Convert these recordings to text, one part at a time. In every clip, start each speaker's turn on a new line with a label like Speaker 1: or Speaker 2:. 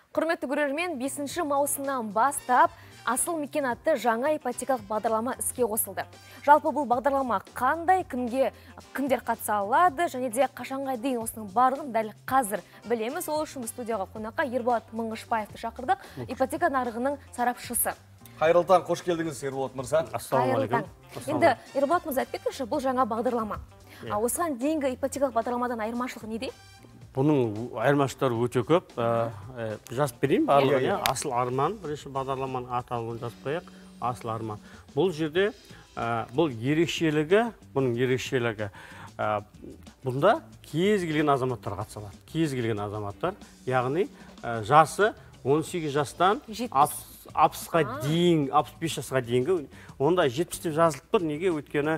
Speaker 1: Құрметті көрермен, 5 маусымнан бастап Асыл мекен атты жаңа ипотекалық бағдарлама іске қосылды. Жалпы бұл бағдарлама қандай, кімдер қатыса алады және де қашанға дейін осының барлығын дәл қазір білеміз. Ол үшін студияға қонаққа Ерболат Мыңғышбаевты шақырдық, ипотека нарығының сарапшысы.
Speaker 2: Қайырлы таң, қош келдіңіз, Ерболат мырза.
Speaker 1: Ассалаумағалейкум. Енді Ерболат мырза, айтпекші, бұл жаңа бағдарлама. Осыған дейінгі ипотекалық бағдарламадан айырмашылығы неде?
Speaker 3: Бұның айырмашылықтары өте көп. Жазып берейін барлығын. Асыл арман, бірінші бағдарламаның аталуын жазып қояйық. Асыл арман. Бұл жерде бұл ерекшелігі, бұның ерекшелігі. Бұнда кез келген азаматтар қатыса алады. Кез келген азаматтар, яғни жасы 18 жастан 60-ға дейін, 65 жасқа дейінгі, онда 70 деп жазылып тұр. Неге? Өйткені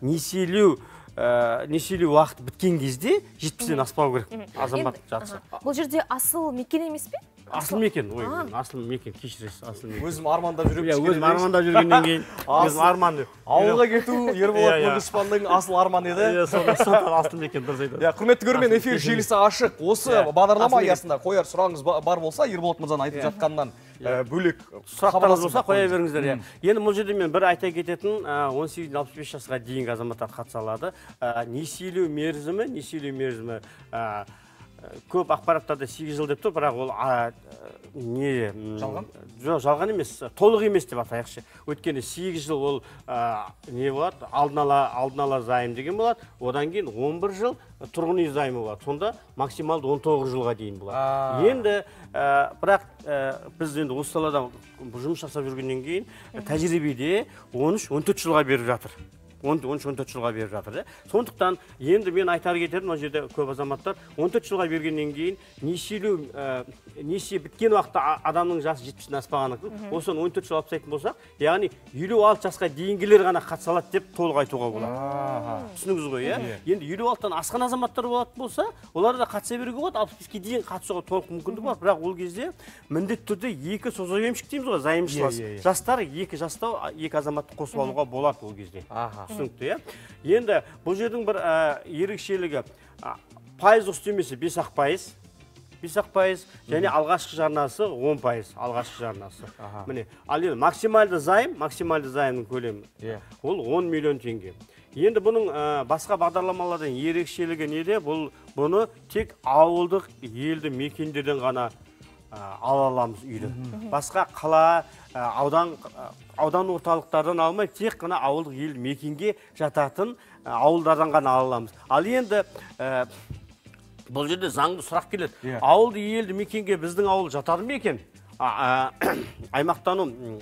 Speaker 3: несиелеу уақыты біткен кезде 70-ден аспау керек азамат жатса.
Speaker 1: Бұл жерде асыл мекен емес пе?
Speaker 3: Асыл мекен, асыл мекен, кешіресіз, асыл мекен.
Speaker 2: Өзім армандап жүрген.
Speaker 3: Өзім армандап жүргеннен кейін, өзім арманды.
Speaker 2: Ауылға кету Ерболат Мыңғышбаевтың асыл арманы еді.
Speaker 3: Сондықтан асыл мекен дұрыс айтады.
Speaker 2: Құрметті көрермен, эфир желісі ашық. Осы бағдарлама аясында қояр сұрағыңыз бар болса, Ерболат мырзаның айтып жатқаннан бөлек
Speaker 3: сұрақтарыңыз болса қоя беріңіздер. Енді бұл жерде мен бір айта кететін 18-65 жасқа дейінгі азаматтар қатыса алады. Несиелеу мерзімі көп ақпараттарда 8 жыл деп тұр, бірақ ол
Speaker 2: жалған?
Speaker 3: Жоқ, жалған емес, толық емес деп атайықшы. Өйткені 8 жыл ол не болады? Алдын ала зайым деген болады. Одан кейін 11 жыл тұрғын үй займы болады. Сонда максималды 19 жылға дейін болады. Енді бірақ біз енді осы салада жұмыс жасап жүргеннен кейін тәжірибеде 13-14 жылға беріп жатыр. 13-14 жылға беріп жатыр. Сондықтан енді мен айтар кетерім, ол жерде көп азаматтар 14 жылға бергеннен кейін несие біткен уақытта адамның жасы 70-ден аспағаны, осыны 14 жыл алып тастайтын болсақ, яғни 56 жасқа дейінгілер ғана қатыса алады деп толық айтуға болады. Түсініңіз ғой, енді 56-тан асқан азаматтар болатын болса, олар да қатыса беруге болады, 65-ке дейін қатысуға толық мүмкіндік бар, бірақ ол кезде міндетті түрде екі созақ дейміз ғой, займшылас. Жастар екі жастау, екі азаматты қосып алуға болады ол кезде. Түсінікті, енді бұл жердің бір ерекшелігі пайыздық үстемесі 5-ақ пайыз, және алғашқы жарнасы 10%, алғашқы жарнасы. Міне, ал енді максималды займның көлемі, ол 10 миллион теңге. Енді бұның басқа бағдарламалардан ерекшелігі неде? Бұны тек ауылдық елді мекендерден ғана ала аламыз үйді. Басқа қала, аудан орталықтардан алмай, тек қана ауылдық елді мекенге жататын ауылдардан ғана ала аламыз. Ал енді бұл жерде заңды сұрақ келеді. Ауылды елді мекенге біздің ауыл жатады ма екен? Аймақтану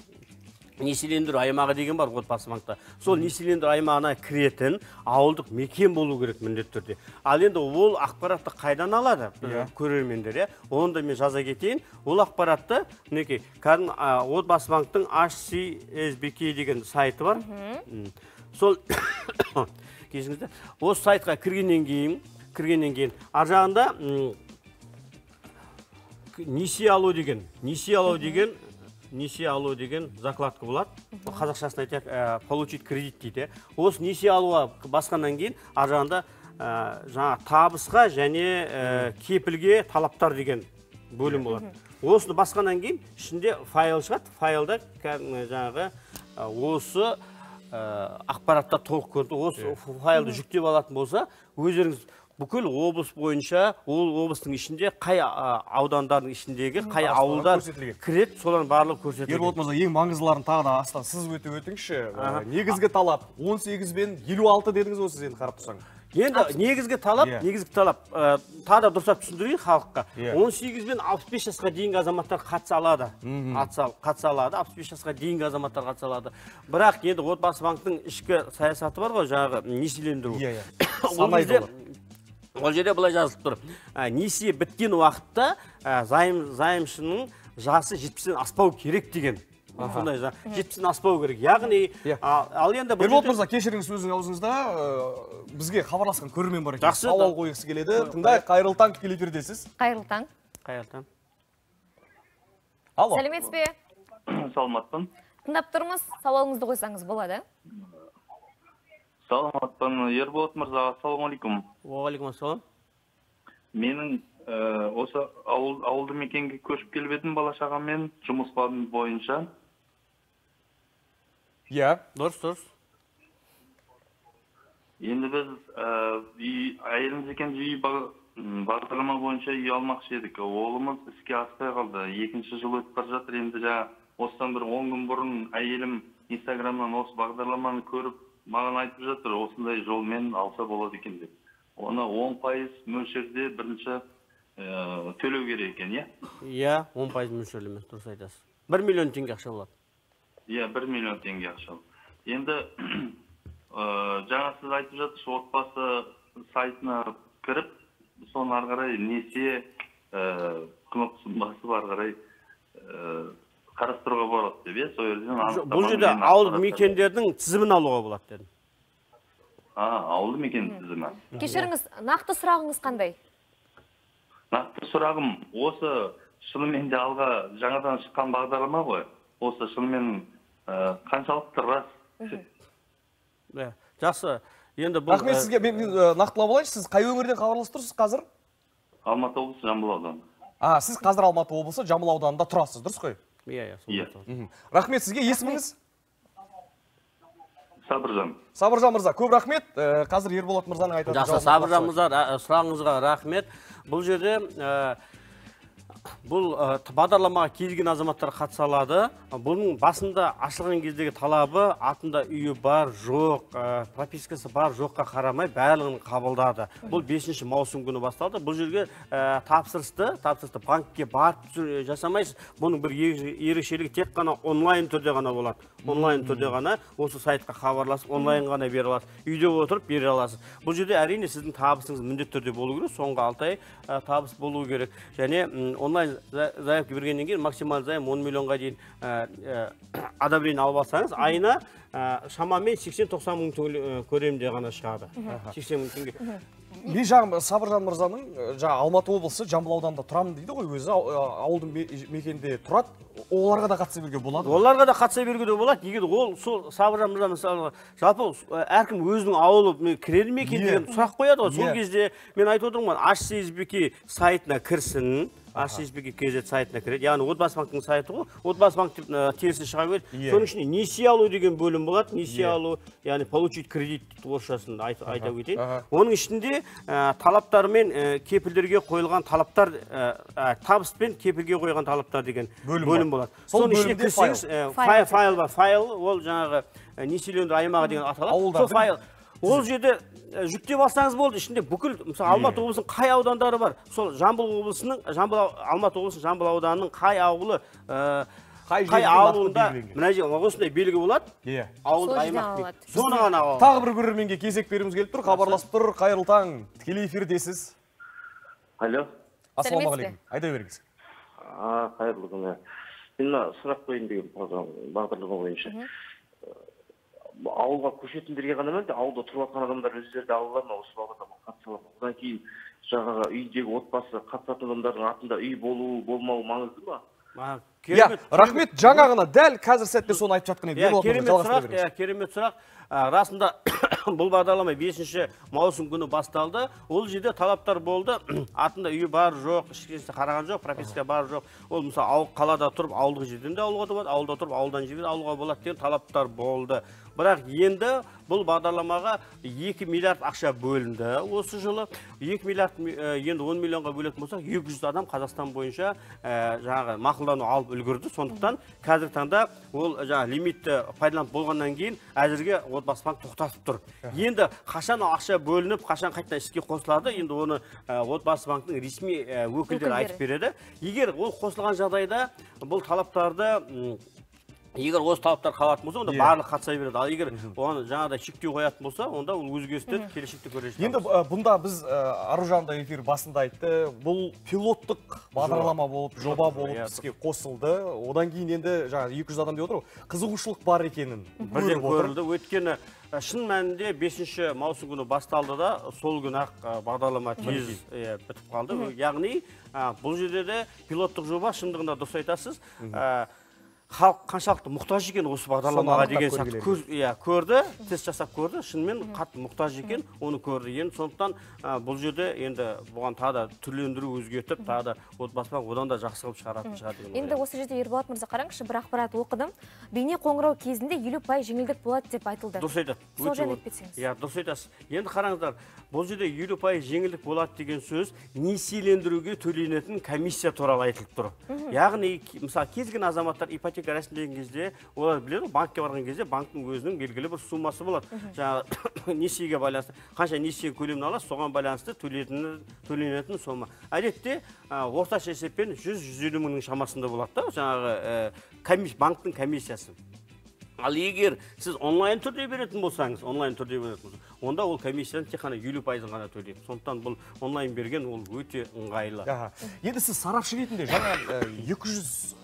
Speaker 3: несиелендіру аймағы деген бар отбасы банкта. Сол несиелендіру аймағына кіретін ауылдық мекен болу керек міндетті түрде. Ал енді ол ақпаратты қайдан алады көрермендер? Оны да мен жаза кетейін. Ол ақпаратты мінекей отбасы банктың HCSBK деген сайты бар. Сол кешіңізде осы сайтқа кіргеннен кейін ар жағында несие алу деген закладка болады. Қазақшасын айтайық, получить кредит дейді. Осы несие алуға басқаннан кейін ар жағында жаңа табысқа және кепілге талаптар деген бөлім болады. Осыны басқаннан кейін ішінде файл шығады. Файлда жаңағы осы ақпаратта толық көрді. Осы файлды жүктеп алатын болса, өздеріңіз бүкіл облыс бойынша, ол облыстың ішінде қай аудандардың ішіндегі қай ауылдар кірет, солардың барлығы көрсетілген.
Speaker 2: Ерболат мырза, ең маңыздыларын тағы да астан сіз өтіңізші. Негізгі талап 18 бен 56 дедіңіз ғой, сіз енді қарап тұрсаң.
Speaker 3: Енді негізгі талап тағы да дұрыстап түсіндірейін халыққа. 18 бен 65 жасқа дейінгі азаматтар қатыса алады. 65 жасқа дейінгі азаматтар қатыса алады. Бірақ енді отбасы банктың ішкі саясаты бар ғой, жаңағы несиелендіру. Ол жерде былай жазылып тұр. Несие біткен уақытта займшының жасы 70-ден аспау керек деген. Сондай 70-ден аспау керек. Яғни, ал енді...
Speaker 2: Ерболат мырза, кешіріңіз сөзің аузыңызда, бізге хабарласқан көрермен бар екен. Сауал қойғысы келеді. Тыңдайық, қайырлы таң, тікелей эфирдесіз.
Speaker 1: Қайырлы таң.
Speaker 2: Алло.
Speaker 1: Сәлеметсіз бе?
Speaker 4: Саламатпын.
Speaker 1: Тыңдап тұрмыз, сауалыңызды қойсаңыз болады.
Speaker 4: Саламатпын, Ерболат мырза, ассалаумалейкум.
Speaker 3: Уағалейкум ассалам.
Speaker 4: Менің осы ауылды мекенге көшіп келіп едім бала шағаммен жұмыс бойынша.
Speaker 2: Иә.
Speaker 3: Дұрыс.
Speaker 4: Енді біз әйеліміз екен үй бағдарлама бойынша үй алмақшы едік. Олымыз іске аспай қалды. 2-ші жыл өтіп бара жатыр. Енді осыдан бір 10 күн бұрын әйелім Инстаграмнан осы бағдарламаны көріп, маған айтып жатыр, осындай жолмен алса болады екен деп. Оны 10% мөлшерде бірінші төлеу керек екен, иә?
Speaker 3: Иә, 10% мөлшерлеме, дұрыс айтасыз. 1 миллион теңге ақша болады.
Speaker 4: Иә, 1 миллион теңге ақша. Енді жаңа сіз айтып жатырсыз, отбасы сайтына кіріп, соны ары қарай несие кнопкасын басып ары қарай қарастыруға болады деп, сол жерден
Speaker 3: бұл жерде ауылдық мекендердің тізімін алуға болады дедім.
Speaker 4: Ауылды мекен тізімі.
Speaker 1: Кешіріңіз, нақты сұрағыңыз қандай?
Speaker 4: Нақты сұрағым, осы шынымен де алға жаңадан шыққан бағдарлама ғой. Осы шынымен қаншалықты рас?
Speaker 3: Жақсы. Енді бұл
Speaker 2: рахмет сізге. Мен нақтылап алайыншы, сіз қай өңірден хабарласып тұрсыз қазір?
Speaker 4: Алматы облысы, Жамбыл ауданы.
Speaker 2: Сіз қазір Алматы облысы, Жамбыл ауданында тұрасыз, дұрыс қой?
Speaker 3: Иә.
Speaker 2: Рахмет сізге. Есіміңіз?
Speaker 4: Сабыржан.
Speaker 2: Сабыржан мырза, көп рахмет. Қазір Ерболат мырзаның айтатын
Speaker 3: жауабын. Жақсы, Сабыржан мырза, сұрағыңызға рахмет. Бұл жерде бұл бағдарламаға келген азаматтар қатыса алады. Бұның басында ашылған кездегі талабы атында үйі бар, жоқ, пропискасы бар, жоққа қарамай барлығын қабылдады. Бұл 5 маусым күні басталды. Бұл жерге тапсырысты банкке барып жасамайсыз. Бұның бір ерекшелігі тек қана онлайн түрде ғана болады. Онлайн түрде ғана осы сайтқа хабарласып, онлайн ғана бере аласыз. Үйде отырып бере аласыз. Бұл жерде әрине сіздің табысыңыз міндетті түрде болу керек. Соңғы 6 ай табыс болу керек. Және онлайн заявка бергеннен кейін максималды займ 10 миллионға дейін одобрение алып алсаңыз, айына шамамен 80-90 мың теңге көлемінде ғана шығады. 80 мың теңге.
Speaker 2: Мен жағым Сабыржан мырзаның Алматы облысы, Жамбыл ауданында тұрамын дейді ғой, өзі ауылдың мекенде тұрады. Оларға да қатыса беруге болады?
Speaker 3: Оларға да қатыса беруге болады. Егер ол сол Сабыржан мырза мысалы, жалпы әркім өзінің ауылы кіреді ме екен деген сұрақ қояды ғой. Сол кезде мен айтып отырмын, HSBK сайтына кірсін. HSBK KZ сайтына кіреді. Яғни Отбасы банктың сайты ғой. Отбасы банк терісі шыға береді. Соның ішінде несие алу деген бөлім болады. Несие алу, яғни получить кредит орысшасында айта кетейін. Оның ішінде талаптар мен кепілдерге қойылған талаптар, табыс пен кепілге қойған талаптар деген бөлім болады. Соның ішіне кірсеңіз, файл бар. Файл ол жаңағы несиелендіру аймағы деген аталады. Сол файл. Ол жерде жүктеп алсаңыз болды. Ішінде бүкіл, мысалы, Алматы облысының қай аудандары бар? Сол Жамбыл облысының, Алматы облысының Жамбыл ауданының қай ауылы, қай ауылында мына жерде осындай белгі болады? Ауыл аймақ. Соны ғана алады.
Speaker 2: Тағы бір көрерменге кезек беруіміз келіп тұр, хабарласып тұр. Қайырлы таң, тікелей эфирдесіз.
Speaker 4: Алло.
Speaker 2: Ассалаумағалейкум. Айта беріңіз.
Speaker 4: Қайырлы күн. Мен сұрақ қойын деген бағдарлама бойынша. Ауылға көшетіндерге ғана емес, ауылда тұрып жатқан адамдар өздері де алалар ма, осы бағдарламаға қатыса алады. Одан кейін жаңағы үйдегі отбасы қатысатын адамдардың атында үй болуы, болмауы маңызды ма?
Speaker 2: Рахмет, жаңа ғана дәл қазір сәтте соны айтып жатқан еді.
Speaker 3: Керемет сұрақ. Расында бұл бағдарлама 5 маусым күні басталды. Ол жерде талаптар болды. Атында үйі бар, жоқ, ішкесінде қараған жоқ, прописка бар, жоқ. Ол мысалы қалада тұрып, ауылдық жерден де алуға болады, ауылда тұрып, ауылдан жерден алуға болады деген талаптар болды. Бірақ енді бұл бағдарламаға 2 миллиард ақша бөлінді осы жылы. 2 миллиард енді 10 миллионға бөлетін болсақ, 200 адам Қазақстан бойынша жаңағы мақұлдану алып үлгерді. Сондықтан қазіргі таңда ол жаңағы лимитті пайдаланып болғаннан кейін әзірге Отбасы банк тоқтатып тұр. Енді қашан ақша бөлініп, қашан қайтадан іске қосылады, енді оны Отбасы банктың ресми өкілдері айтып береді. Егер ол қосылған жағдайда бұл талаптарды егер осы талаптар қалатын болса, онда барлық қатыса береді. Ал егер оны жаңағыдай шектеу қоятын болса, онда ол өзгерістер келешекте көре жатамыз.
Speaker 2: Енді бұнда біз Аружан да эфир басында айтты, бұл пилоттық бағдарлама болып, жоба болып іске қосылды. Одан кейін енді жаңа 200 адам деп отыр, қызығушылық бар екенін
Speaker 3: бірден көрілді. Өйткені шын мәнінде 5 маусым күні басталды да, сол күні бағдарлама тез бітіп қалды. Яғни бұл жерде де пилоттық жоба, шындығында дұрыс айтасыз. халық қаншалықты мұқтаж екен осы бағдарламаға деген сияқты көрді, тест жасап көрді, шынымен қатты мұқтаж екен, оны көрді. Енді сондықтан бұл жерде енді бұған тағы да түрлендіру өзгертіп, тағы да отбасыға одан да жақсы қылып шығаратын шығар деген.
Speaker 1: Енді осы жерде Ерболат мырза қараңызшы, бір ақпарат оқыдым. Бейне қоңырау кезінде 50% жеңілдік болады деп айтылды.
Speaker 3: Дұрыс айтады.
Speaker 1: Сол жайлы айтып
Speaker 3: Иә, дұрыс айтасыз. Енді қараңыздар, бұл жерде 50% жеңілдік болады деген сөз несиелендіруге төленетін комиссия туралы айтылып тұр. Яғни, мысалы, кез келген азаматтар ипотека рәсімдеген кезде, олар біледі, банкке барған кезде банктың өзінің белгілі бір суммасы болады. Жаңағы несиеге байланысты, қанша несие көлемін алады, соған байланысты төленетін сома. Әдетте орташа есеппен 100-150 мыңның шамасында болады да, жаңағы банктың комиссиясы. Ал егер сіз онлайн түрде беретін болсаңыз, онда ол комиссияны тек қана 50% ғана төлейді. Сондықтан бұл онлайн берген ол өте ыңғайлы.
Speaker 2: Енді сіз сарапшы ретінде жаңа 200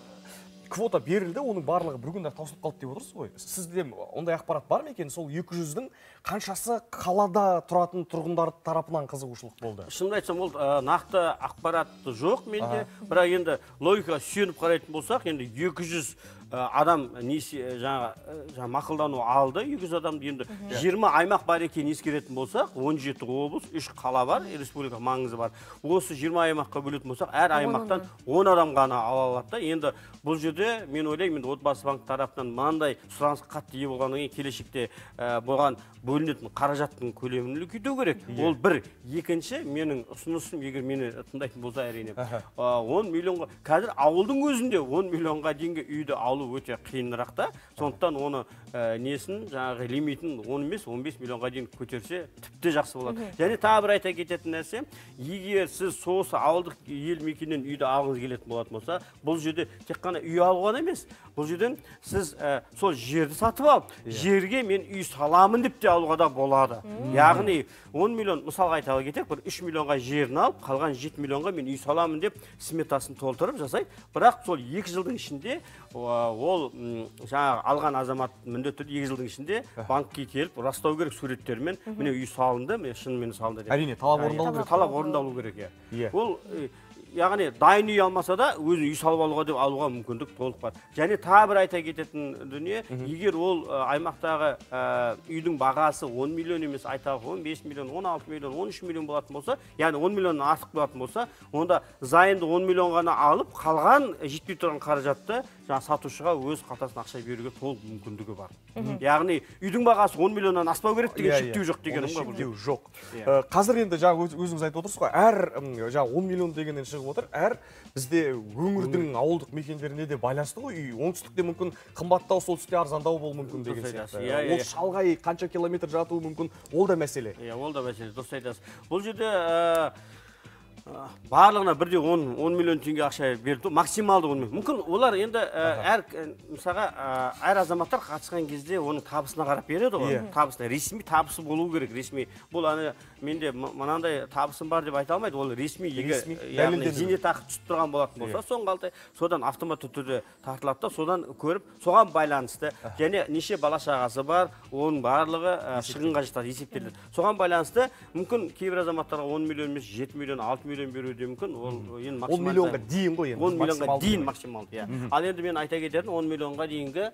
Speaker 2: квота берілді, оның барлығы бір күнде таусылып қалды деп отырсыз ғой. Сізде ондай ақпарат бар ма екен? Сол 200-дің қаншасы қалада тұратын тұрғындар тарапынан қызығушылық болды?
Speaker 3: Шынымды айтсам, ол нақты ақпарат жоқ менде. Бірақ енді логикаға сүйеніп қарайтын болсақ, енді 200 адам жаңа мақұлдану алды, 200 адамды енді 20 аймақ бар екенін ескеретін болсақ, 17 облыс, 3 қала бар, республика маңызы бар. Осы 20 аймаққа бөлетін болсақ, әр аймақтан 10 адам ғана ала алады. Енді бұл жерде мен ойлаймын, отбасы банк тарапынан мынандай сұранысқа қатты ие болғаннан кейін келешекте бұған бөлінетін қаражаттың көлемін үлкейту керек. Ол бір. Екінші, менің ұсынысым, егер мені тыңдайтын болса әрине, 10 миллионға, қазір ауылдың өзінде 10 миллионға дейінгі үйді алу өте қиынырақ та. Сондықтан оны несін, жаңағы лимитін 10 емес, 15 миллионға дейін көтерсе, тіпті жақсы болады. Және тағы бір айта кететін нәрсе, егер сіз сосы ауылдық ел мекеннен үйді алғыңыз келетін болатын болса, бұл жерде тек қана үй алуға емес, бұл жерден сіз сол жерді сатып алып, жерге мен үй саламын деп те алуға да болады. Яғни 10 миллион, мысалға айтала кетек, бір 3 миллионға жерін алып, қалған 7 миллионға мен үй саламын деп сметасын толтырып жасайды. Бірақ сол 2 жылдың ішінде ол жаңағы алған азамат міндетті 2 жылдың ішінде банкке келіп растау керек суреттермен, міне үй салынды, міне шынымен салынды деп.
Speaker 2: Әрине, талап
Speaker 3: орындалу керек. Ол яғни дайын үй алмаса да өзі үй салып алуға деп алуға мүмкіндік толық бар. Және тағы бір айта кететін дүние, егер ол аймақтағы үйдің бағасы 10 миллион емес, айталық 15 миллион, 16 миллион, 13 миллион болатын болса, яғни 10 миллионнан артық болатын болса, онда зайымды 10 миллион ғана алып, қалған жетпей тұрған қаражатты сатушыға өз қалтасына ақша беруге толық мүмкіндігі бар. Яғни үйдің бағасы 10 миллионнан аспау керек деген шектеу жоқ дегенім ғой.
Speaker 2: Шектеу жоқ. Қазір енді өзіңіз айтып отырсыз ғой, әр 10 миллион дегеннен шығып отыр, әр бізде өңірдің ауылдық мекендеріне де байланысты ғой. Оңтүстікте мүмкін қымбаттау, солтүстікте арзандау болуы мүмкін деген сияқты. Ол шалғай қанша километр жатуы мүмкін, ол да мәселе.
Speaker 3: Ол да мәселе, дұрыс айтасыз. Бұл жерде барлығына бірде 10 миллион теңге ақша берді, максималды 10 миллион. Мүмкін олар енді мысалға әр азаматтар қатысқан кезде оның табысына қарап береді ғой. Табысына ресми табысы болу керек, ресми. Бұл менде мынандай табысым бар деп айта алмайды. Ол ресми, яғни зейнетақы түсіп тұрған болатын болса, соңғы содан автоматты түрде тартылады да, содан көріп, соған байланысты және неше бала шағасы бар, оның барлығы шығынға жатады, есептеледі. Соған байланысты мүмкін кейбір азаматтарға 10 миллион емес, 7 миллион, 6 миллион беруі де мүмкін. Ол енді максималды
Speaker 2: 10 миллионға дейін ғой енді.
Speaker 3: 10 миллионға дейін максималды, иә. Ал енді мен айта кететін 10 миллионға дейінгі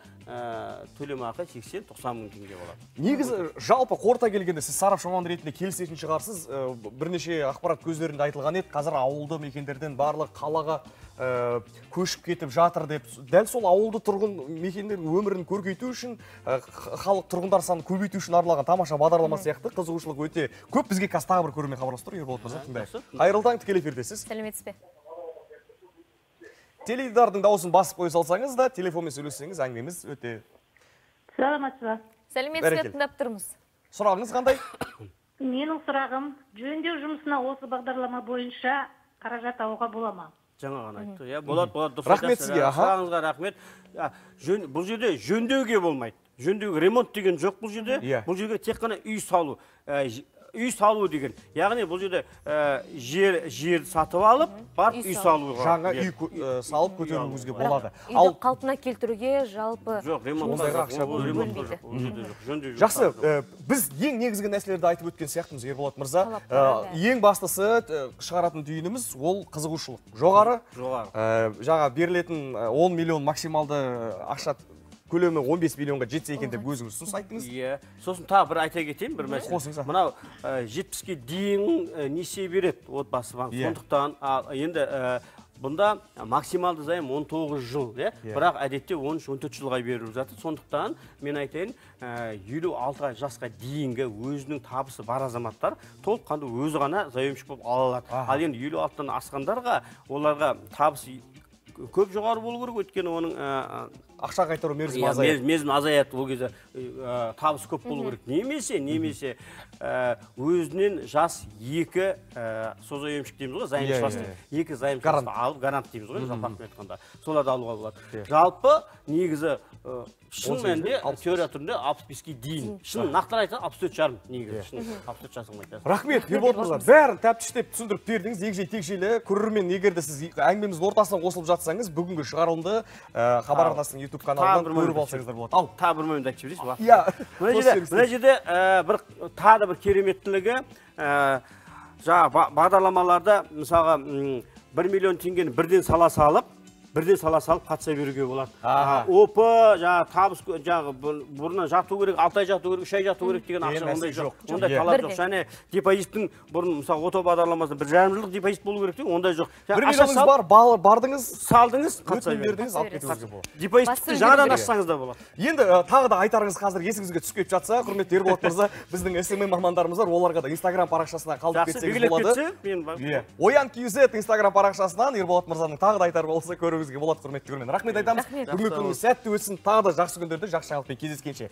Speaker 3: төлемақы 80-90 мың теңге болады.
Speaker 2: Негізі жалпы қорыта келгенде сіз сарапшы маман ретінде келісетін шығарсыз. Бірнеше ақпарат көздерінде айтылған еді, қазір ауылды мекендерден барлық қалаға көшіп кетіп жатыр деп. Дәл сол ауылды тұрғын мекендердің өмірін көркейту үшін, халық тұрғындар санын көбейту үшін арналған тамаша бағдарлама сияқты қызығушылық өте көп. Бізге қазір тағы бір көрермен хабарласып тұр, Ерболат мырза, тыңдайық. Қайырлы таң, тікелей эфирдесіз.
Speaker 1: Сәлеметсіз бе?
Speaker 2: Теледидардың дауысын басып қоя салсаңыз да, телефонмен сөйлессеңіз, әңгімеміз өте.
Speaker 5: Саламатсыз ба?
Speaker 1: Сәлеметсіз бе, тыңдап тұрмыз.
Speaker 2: Сұрағыңыз қандай?
Speaker 5: Менің сұрағым, жөндеу жұмысына осы бағдарлама бойынша қаражат алуға бола ма?
Speaker 3: Жаңа ғана айтты. Болады.
Speaker 2: Рахмет сізге.
Speaker 3: Сұрағыңызға рахмет. Бұл жерде жөндеуге болмайды. Ремонт деген жоқ бұл жерде. Бұл жерге тек қана үй салу. үй салу деген. Яғни бұл жерде жер сатып алып, барып үй салуға.
Speaker 2: Жаңа үй салып көтеруіңізге болады.
Speaker 1: Үйді қалпына келтіруге жалпы
Speaker 3: жоқ,
Speaker 2: ондайға ақша
Speaker 1: бөлінбейді.
Speaker 2: Жақсы, біз ең негізгі нәрселерді айтып өткен сияқтымыз, Ерболат мырза. Ең бастысы шығаратын түйініміз ол қызығушылық. Жоғары. Жаңа берілетін 10 миллион максималды ақша көлемі 15 миллионға жетсе екен деп өзіңіз ұсыныс айттыңыз.
Speaker 3: Иә. Сосын тағы бір айта кетейін, бір мәселе. Мынау 70-ке дейін несие береді отбасы банк. Сондықтан енді бұнда максималды займ 19 жыл, бірақ әдетте 13-14 жылға беріліп жатыр. Сондықтан мен айтайын, 56 жасқа дейінгі өзінің табысы бар азаматтар толыққанды өзі ғана заемщик болып ала алады. Ал енді 56-тан асқандарға оларға табысы көп жоғары болу керек, өйткені оның
Speaker 2: ақша қайтару мерзімі азаяды.
Speaker 3: Мерзімі азаяды, ол кезде табысы көп болу керек. Немесе өзінен жас 2 созаемщик дейміз ғой, заемшыласты. 2 заемшыласты алып, гарант дейміз ғой, жалпы айтқанда. Соларды алуға болады. Жалпы негізі шын мәнінде теория түрінде 65-ке дейін. Шын нақтылы айтса 64,5 негізі. Шын 64 жасыңыз айтасыз.
Speaker 2: Рахмет, Ерболат мырза. Бәрін тәптіштеп түсіндіріп бердіңіз. Егжей-тегжейлі көрермен, егер де сіз әңгімеміздің ортасынан қосылып жатсаңыз, бүгінгі шығарылымды Хабар арнасының YouTube каналынан көріп алсаңыздар болады. Ал,
Speaker 3: тағы бір момент айтып жіберейінші.
Speaker 2: Иә.
Speaker 3: Мына жерде тағы бір кереметтілігі, жаңа бағдарламаларда мысалға 1 миллион теңгені бірден сала салып қатыса беруге болады. Опы, жаңа табыс, жаңа бұрыннан жату керек, 6 ай жату керек, 3 ай жату керек деген ақша ондай жоқ. Ондай талап жоқ. Және депозиттің бұрын мысалы ото бағдарламасында 1,5 жылдық депозит болу керек деген ондай жоқ.
Speaker 2: 1 миллионыңыз бар, бардыңыз,
Speaker 3: салдыңыз, қатыса
Speaker 2: бердіңіз, алып кетуіңізге болады.
Speaker 3: Депозитті жаңадан ашсаңыз да болады.
Speaker 2: Енді тағы да айтарыңыз қазір есіңізге түсіп кетіп жатса, құрметті Ерболат мырза, біздің SMM мамандарымыз бар, оларға да Instagram парақшасына қалдырып кетсеңіз болады. Oyan.kz Instagram парақшасынан Ерболат мырзаның тағы да айтар болса көріңізге болады, құрметті көрермен. Рахмет айтамыз. Бүгінгі күніңіз сәтті өтсін, тағы да жақсы күндерде жақсы жаңалықпен кездескенше.